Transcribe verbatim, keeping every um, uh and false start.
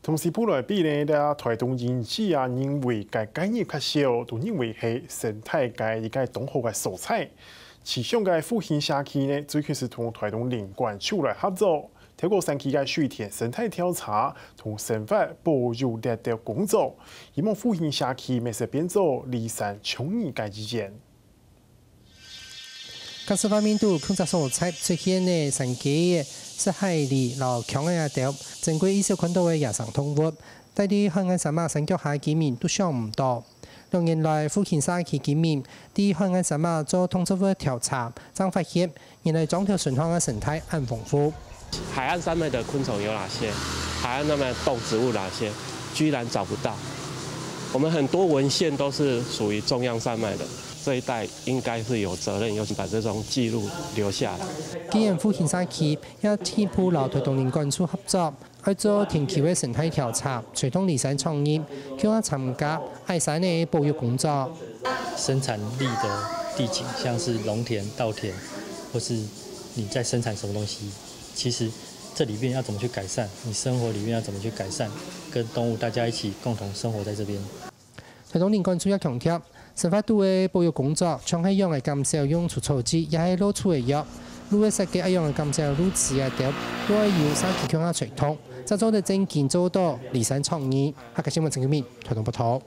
同西部來比呢，這台東人士啊，認為該該日較少，都認為係生態个一個當好个所在。其中个復興社區呢，最近係同台東林管處來合作，透過山區个水田生態調查同生活保育這兜工作，希望復興社區乜係變做離山倡議个一員。 該石化面肚共隻所在出現个山雞仔、石海狸摎強仔啊兜，珍貴意識看到个野生動物，戴在海岸山脈山腳下个居民都想毋到。兩年來，復興社區居民在海岸山脈做動植物調查，正發現原來莊頭脣項个生態恁豐富。海岸上面的昆蟲有哪些？海岸上面的動植物哪些？居然找不到。我们很多文献都是属于中央山脉的，这一带应该是有责任，有把这种记录留下来。既然復興社區也進一步摎台東林管處合作，愛做定期个生態調查，隨同離山創業，共下參加矮山个保育工作。生產力的地景，像是農田、稻田，或是你在生产什么东西，其实这里面要怎么去改善，你生活里面要怎么去改善，跟动物大家一起共同生活在这边。台东林管处也强调，生活肚个保育工作，像係仰仔減少用除草劑，也係落除个藥，路个設計愛仰仔減少路痴啊兜，都愛由社區共下推動，才做得真經做到離山創業。客家新聞陳金明，台东報導。